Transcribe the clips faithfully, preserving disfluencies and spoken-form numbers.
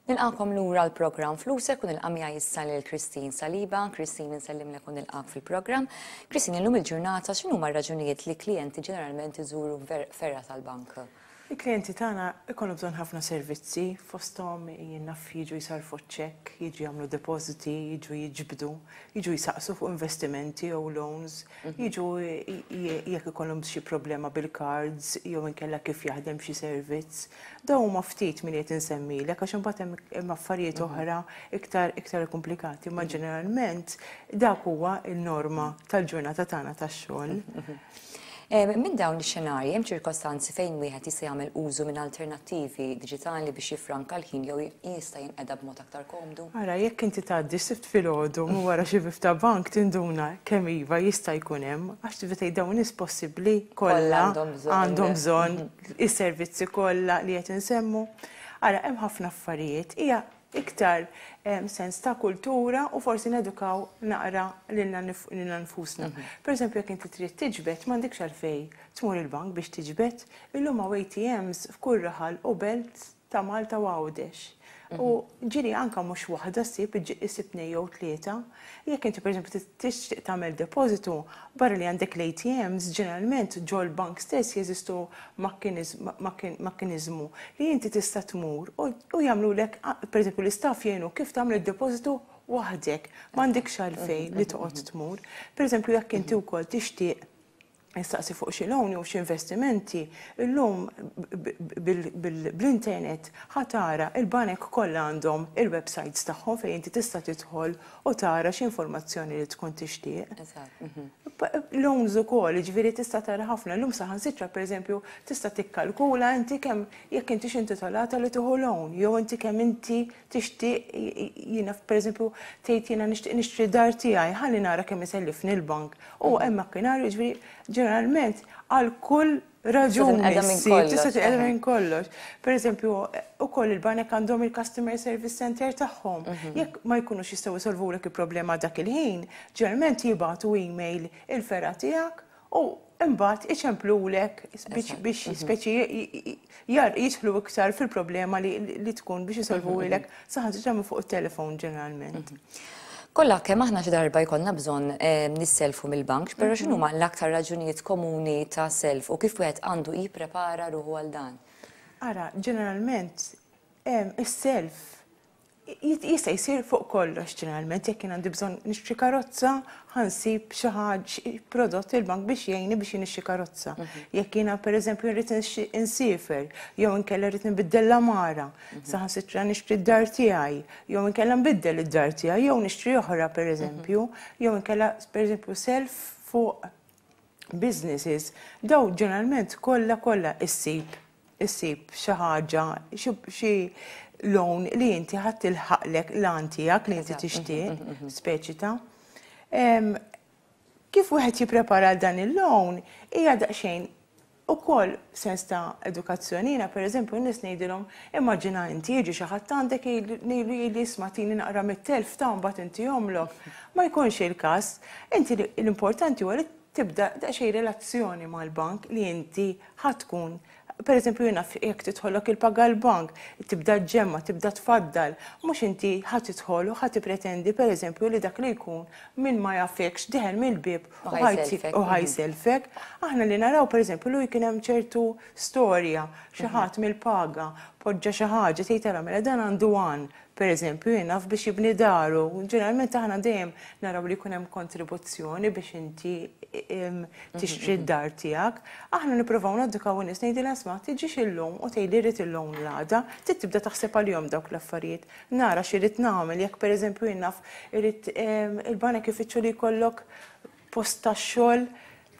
Nilqagħkom lura l-programm Flusek u nilqa' miegħi issa lil Christine Saliba. Christine, nsellimlek u nilqgħek fil-programm. Christine, illum il-ġurnata x'inhuma r-raġunijiet li klijenti ġeneralment iżuru fergħa tal-bank? Il-klijenti tagħna ikollhom bżonn ħafna servizzi, fosthom jien naf jiġu jsarfu ċekk, jiġu jagħmlu depositi, jiġu jiġbdu, jiġu jsaqsu fuq investimenti jew loans, jiġu jekk ikollhom xi problema bil-cards jew inkella kif jaħdem xi servizz. Dawn huma ftit minn qed insemmilek, għax imbagħad hemm affarijiet oħra iktar iktar komplikati, ma ġeneralment dak huwa n-norma tal-ġurnata tagħna tax-xogħol. Minn dawn ix-xenarji, hemm ċirkostanzi fejn wieħed jista' jagħmel użu minn alternattivi diġitali biex jifranka l-ħin jew jista' jinqeda b'mod aktar komdu? Ara, jekk inti tgħaddi Sibt filgħodu minn wara xi bieb ta' bank, tinduna kemm iva jista' jkun hemm, għax tibda tgħid dawn nies possibbli kollha għandhom bżonn is-servizzi kollha li qed insemmu. Ara, hemm ħafna affarijiet. Hija iktar sens ta' kultura u forsi nedukaw naqra lilna nfusna. Per eżempju, jekk inti trid tiġbed, m'għandekx għalfejn tmur il-bank biex tiġbed. Illum hawn A T Ms f'kull raħal u belt ta' Malta u Għawdex. U ġieli anka mhux waħda ssib, issib tnejn jew tlieta. Jekk inti, pereżempju, tixtieq tagħmel depożitu, barra li għandek l-A T Ms, ġeneralment ġol bank stess jeżistu mekkaniżmu li inti tista' tmur u jagħmlulek, pereżempju, l-istaff jgħinu kif tagħmel id-depożitu waħdek, m'għandekx għalfejn li toqgħod tmur. Pereżempju, jekk inti wkoll tixtieq nistaqsi fuq xi loan jew xi investimenti, illum bl-internet ħa tara il-banek kollha għandhom il-websites tagħhom fejn inti tista' tidħol u tara x'informazzjoni li tkun tixtieq. Mhm. Loans ukoll, ġifieri tista' tara ħafna. Illum saħansitra, pereżempju, tista' tikkalkula inti kemm jekk inti intitolata li tieħu loan, jew inti kemm inti tixtieq, jiena, pereżempju, tgħid jiena nixtieq nixtri dar tiegħi, ħalli nara kemm isellifni l-bank. U hemm makkinarju, ġifieri ġeneralment għal kull raġuni tista' tinqeda minn kollox. Per eżempju, ukoll il-banek għandhom il-customer service center tagħhom. Mhm. Jekk ma jkunux jistgħu jsolvulek il-problema dak il-ħin, ġeneralment jibagħtu email il-fergħa tiegħek u imbagħad iċemplulek biex biex mhm. speċi jidħlu iktar fil-problema li tkun biex jisolvulek, mhm. saħansitra minn fuq it-telefon ġeneralment. Kollha kemm aħna xi darba jkollna bżonn eh, nisselfu mill-bank, però x'inhu huma l-aktar raġunijiet komuni ta' self u kif wieħed għandu jipprepara ruħu għal dan? Ara, ġeneralment is-self jista' jsir fuq kollox ġeneralment. Jekk jien għandi bżonn nixtri karozza, ħa nsib xi ħaġa, prodott il-bank biex jgħinni biex nixtri karozza. Mhm. Jekk jiena, pereżempju, rrid insifer, jew inkella rrid nbiddel l-għamara, mhm. saħansitra nixtri d-dar tiegħi, jew inkella nbiddel id-dar tiegħi, jew nixtri oħra, pereżempju, mhm. jew inkella, pereżempju, self fuq businesses, daw ġeneralment kollha kollha issib issib xi ħaġa, xi loan li inti ħa tilħaqlek l-għan tiegħek li inti tixtieq, speċi ta' kif wieħed jipprepara dan il-loan hija daqsxejn ukoll sens ta' edukazzjoni. Jiena, pereżempju, n-nies ngħidilhom, immaġina inti jiġi xi ħadd għandek, ngħidlu li isma', tini naqra mit-telf ta' mbagħad inti jomlok. Ma jkunx il-każ. Inti l-importanti huwa li tibda daqsxejn relazzjoni mal-bank li inti ħa tkun, per eżempju, jiena, jekk tidħollok il-paga l-bank, tibda ġemma, tibda tfaddal, mhux inti ħa tidħol u ħa tippretendi, per eżempju, li dak li jkun min ma jafekx dieħel mill-bib u ħa jsellfek. Aħna li naraw, per eżempju, li kien hemm ċertu storja, xi ħadd mill-paga poġġa xi ħaġa, tgħid tara mela dan għandu għan, per eżempju, jien naf, biex jibni daru. Ġeneralment aħna dejjem naraw li jkun hemm kontribuzzjoni biex inti tixtri d-dar tiegħek. Aħna nippruvaw nedukaw in-nies, ngħidilha isma', tiġix illum u tgħidli rrid il-loan l-għada, trid tibda taħseb għalihom dawk l-affarijiet. Nara x'irid nagħmel, jekk, pereżempju, jien naf, irid il-banek ifittxu li jkollok post tax-xogħol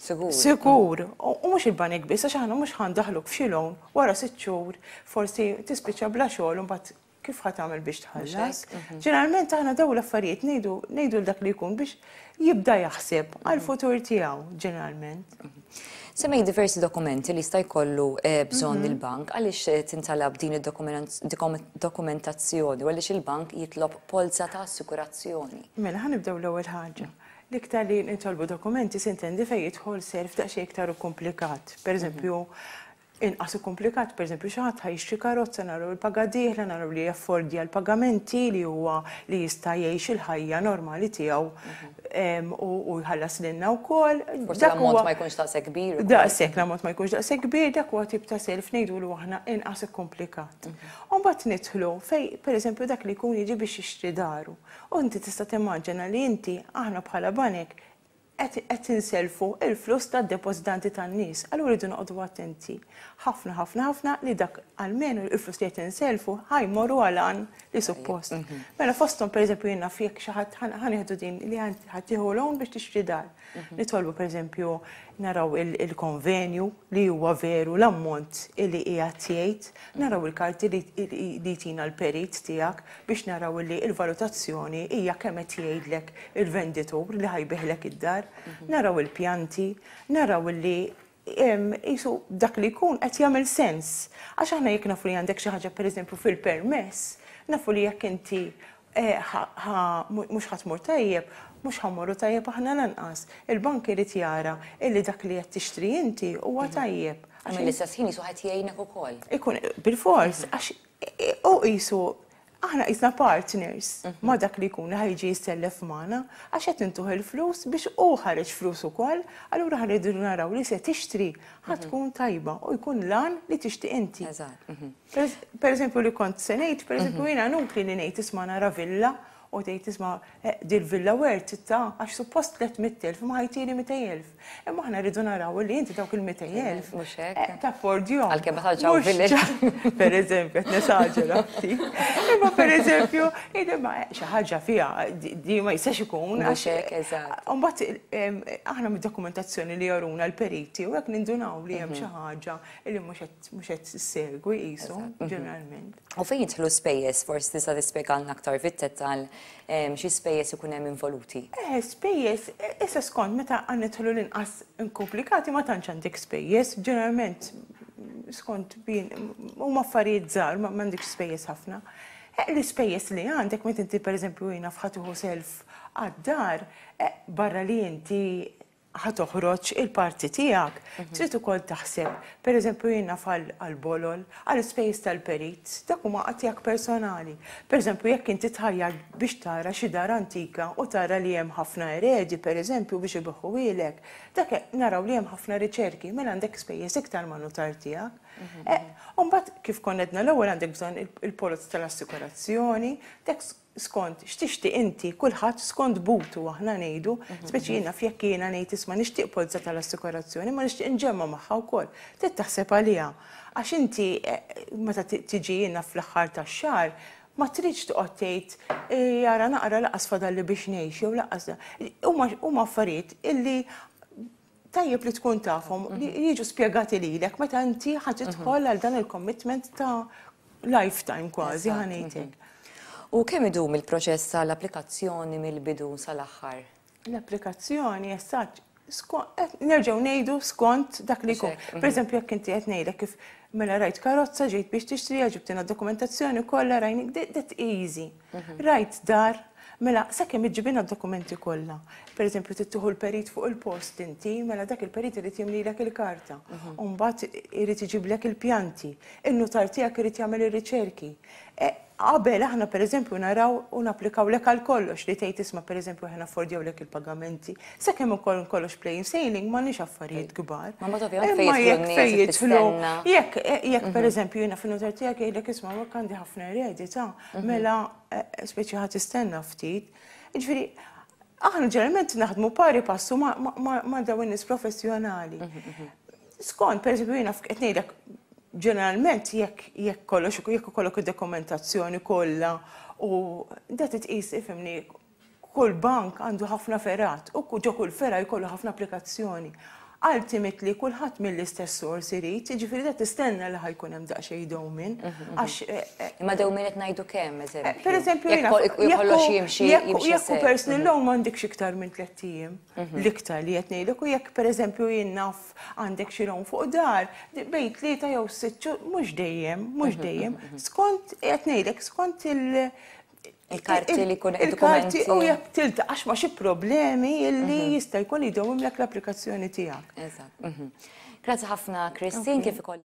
Sigur. Sigur. U mhux il-banek biss, għax aħna mhux ħa ndaħħluk f'xi loan, wara sitt xhur forsi tispiċċa bla xogħol u mbagħad kif ħa tagħmel biex tħallas? Ġeneralment aħna daw l-affarijiet ngħidu ngħidu dak li jkun biex jibda jaħseb għal-futur tiegħu ġeneralment. Semmej diversi dokumenti li jista' jkollu eh, bżonn il-bank. Għaliex eh, tintalab din id-dokumentazzjoni u għaliex il-bank jitlob polza ta' assikurazzjoni? Mela, ħa nibdew l-ewwel ħaġa. L-iktar li nitolbu dokumenti, s'intendi, fejn jidħol self daqsxejn iktar komplikat. Per eżempju, Inqas komplikat, per eżempju, xi ħadd ħa jixtri karozza, naraw il-paga dieħla, naraw li jaffordja l-pagamenti, li huwa li jista' jgħix il-ħajja normali tiegħu u jħallas lilna wkoll. Forsi l-ammont ma jkunx daqshekk kbir. Daqshekk l-ammont ma jkunx daqshekk kbir, dak huwa tip ta' self ngħidulu aħna inqas komplikat. U mbagħad nidħlu fej, pereżempju, dak li jkun jiġi biex jixtri daru. U inti tista' timmaġina li inti, aħna bħala banek, qed inselfu il-flus tad-depożitanti tan-nies. Allura rridu noqogħdu attenti ħafna, ħafna, ħafna li dak almenu il-flus li qed inselfu ħa jmorru għal li suppost. Mhm. Mela fosthom, pereżempju, jiena jekk xi ħadd, ħa nieħdu din li ħa tieħu loan biex tixtri dar. Mhm. Nitolbu, pereżempju, naraw il-konvenju li huwa veru l-ammont li qiegħed jgħid, naraw il-karti li tina l-perit tiegħek biex naraw li il-valutazzjoni hija kemm qed jgħidlek il-venditur li ħa jbigħlek id-dar, naraw il-pjanti, naraw li jisu dak li jkun qed jagħmel sens. Għax aħna jekk nafu li għandek xi ħaġa, pereżempju, fil-permess, nafu li jekk inti eh, mhux ħa tmur tajjeb, mhux ħa mmorru tajjeb aħna lanqas. Il-bank irid jara illi dak li qed tixtri inti huwa mhm. tajjeb. Għax l-istess ħin jisu ħadd jgħinek ukoll. Ikun bil-fors, għax u jisu aħna qisna partners mhm. ma dak li jkun ħa jiġi jissellef magħna, għax qed intuh il-flus biex u ħareġ flus ukoll, allura ħa rridu naraw li se tixtri ħa mhm. tkun tajba u jkun lan li tixtieq inti. Mhm. Per eżempju, li kont se ngħid, per eżempju, jiena nunkli li ngħid, isma', nara villa u tgħid, isma', eh, dil-villa worth ta' għax suppost tliet mitt elf ma ħa jtini mitejn elf. Imma aħna rridu naraw li inti dawk il-mitejn elf Mhux hekk. Eh, taffordjhom. Għalkemm ma tantx hawn villi. Per eżempju, qed nesaġera ftit. Imma per eżempju, ma xi ħaġa fiha di ma jistax ikun. Mhux hekk, eżatt. Mbagħad aħna mid-dokumentazzjoni li jaruna l-periti u hekk nindunaw li hemm xi ħaġa li mhux qed issegwi qisu ġeneralment. U fejn jidħlu spejjeż, forsi tista' tispjegalna aktar fit-dettall xi spejjeż ikun hemm involuti? Eh, spejjeż, issa skont meta għan nidħlu l-inqas inkomplikati ma tantx għandek spejjeż, ġeneralment skont bin huma affarijiet żgħar, ma m'għandekx spejjeż ħafna. Eh, l-ispejjeż li għandek meta inti, pereżempju, jiena ħa tieħu self għad-dar, eh, barra li inti ħa toħroġ il-parti tiegħek. Trid ukoll taħseb, pereżempju, jiena għal-bolol, għal-ispejjeż tal-perit, dak huma tiegħek personali. Pereżempju, jekk inti tħajjar biex tara xi dar antika u tara li hemm ħafna eredi, pereżempju, biex ibigħuhielek, dak naraw li hemm ħafna riċerki, mela għandek spejjeż iktar ma' nutar tiegħek. U mbagħad, kif konna għedna l-ewwel, għandek bżonn il-polozz tal-assikurazzjoni, dak skont x'tixtieq inti, kulħadd skont butu aħna ngħidu, speċi jiena jekk jiena ngħid, isma', nixtieq polza tal-assikurazzjoni, ma nixtieq inġemma magħha wkoll. Trid taħseb għaliha. Għax inti eh, meta tiġi jiena fl-aħħar tax-xahar, ma tridx toqgħod tgħid, eh, jara naqra lanqas fadalli biex ngħix jew lanqas. Huma affarijiet illi tajjeb li tkun tafhom, li jiġu spjegati lilek meta inti ħa tidħol għal dan il-commitment ta' lifetime kważi, ħa ngħidlek. U kemm idum il-proċess tal-applikazzjoni mill-bidu sal-aħħar? L-applikazzjoni essaċ, nerġgħu ngħidu skont dak li jkun. Mhm. Per eżempju, jekk inti qed ngħidlek kif mela rajt karozza, ġejt biex tixtri, ġibtina dokumentazzjoni kollha, rajni, that easy. Mhm. Rajt dar, mela sakemm iġġibina d-dokumenti kollha. Per eżempju, tieħu l-perit fuq il-post inti, mela dak il-perit irid jimlilek il-karta. Mhm. U mbagħad irid iġiblek il-pjanti. In-nutar tiegħek irid jagħmel ir-riċerki. E, qabel aħna, per eżempju, naraw u napplikaw lek għal kollox li tgħid, isma', per eżempju, aħna affordjaw lek il-pagamenti. Sakemm ukoll kollox plain sailing, m'għandniex affarijiet kbar. Ma mbagħad ovvjament Imma fejn jekk jidħlu fejn n-nies jidħlu, tistenna. jekk jekk per eżempju jiena fin-nutar tiegħek jgħidlek, isma', hekk għandi ħafna eredi ta' mela eh, speċi ħa tistenna ftit. Jiġifieri aħna ġeneralment naħdmu pari passu ma' ma- ma' dawn in-nies professjonali. Skont, per eżempju, jiena qed ngħidlek ġeneralment jekk jekk kollox jekk ikollok id-dokumentazzjoni kollha u da titqis, ifhimni, kull bank għandu ħafna fergħat u ġo kull fergħa jkollu ħafna applikazzjoni. Ultimately kulħadd mill-istess sors irid, jiġifieri da tistenna li ħa jkun hemm daqsxejn dewmien għax eh, eh, Imma dewmien qed ngħidu kemm, eżempju? Per eżempju, Jekk jiena- kol- jekk kollox hu- jimxi jekk jimxi jekk hu sew. personal loan m'għandekx iktar minn tliet ijiem. L-iktar li qed ngħidlek, u jekk pereżempju jien naf għandek xi loan fuq dar, di- bejn tlieta jew sitt xhur, mhux dejjem, mhux dejjem. Skont qed ngħidlek skont il- Il-karti li jkun- il-karti id-dokumenti. u jekk tiltaqax ma xi problemi illi jista' jkun jdewwimlek l-applikazzjoni tiegħek. Eżatt. mhm. Grazzi ħafna, Christine, kif ukoll